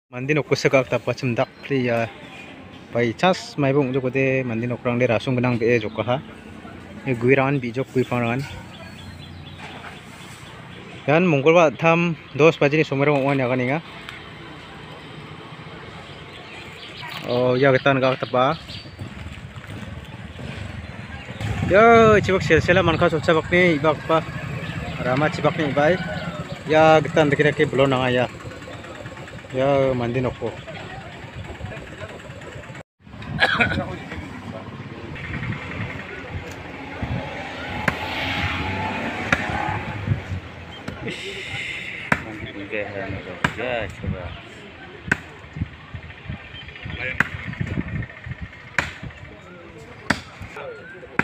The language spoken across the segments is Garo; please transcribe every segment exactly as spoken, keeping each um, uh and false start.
Mande nokkosa gak dapachim dakpli ia. By chance maiba ong·jokode mande nokrangde rasong gnang be·e jokaha. Ia guirangan bijok guipangrangan. Ian mongolbar a·tam dos bajini somairang ong·a ine aganenga. Oh, ia gitan gak dapa. Ia, chibak selsela manka solsa bakni ibakba. Rama chibakni ibai. Ia gitan dake dake bolon nanga ia. Ia mande nokko.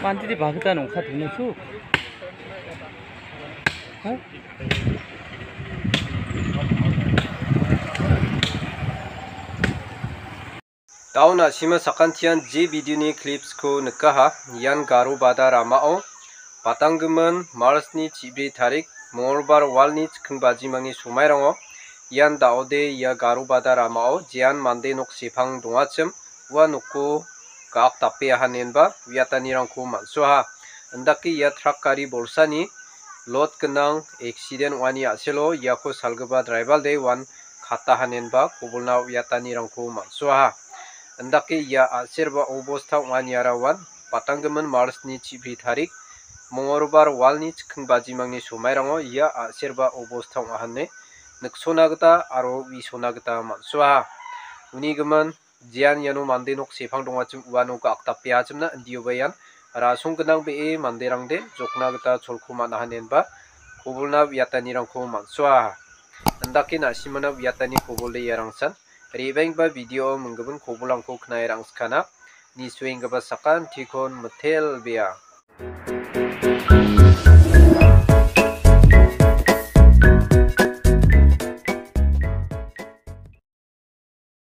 Mande de bagita nongka dongna su. Ha? Dao na·sima sakantian je video-ni clips-ko nikaha, ian Garo Bada ramao, patanggimin March-ni chibri tarik, Mongolbar walni chikking bajimangni somairango, ian daode ia Garo Bada ramao jean mande nok sepang dongachim, ua nokko gak dapeahanenba uiatanirangko man·soaha. Indake ia trak gari bolsani lot gnang accident ong·ani a·selo iako salgipa driver-de uan katahanenba kobolna uiatanirangko man·soaha. Indake ia a·serba obosta ong·aniara uan patanggimin March-ni chibri tarik, Mongolbar walni chikking bajimangni somairango ia a·serba obosta ong·ahane niksona gita aro uisona gita man·soaha. Uni gimin, jean iano mande nok sepang dongachim uano gak dapeachimna indioba ian rasong gnang be·e manderangde jokna gita cholko man·ahanenba kobolna uiatanirangko man·soaha. Indake na·simana uiatani kobolde iarangsan. Re·baenggipa video-o minggipin kobolrangko knae rangskana. Nisuenggipa sakantikon mitelbea.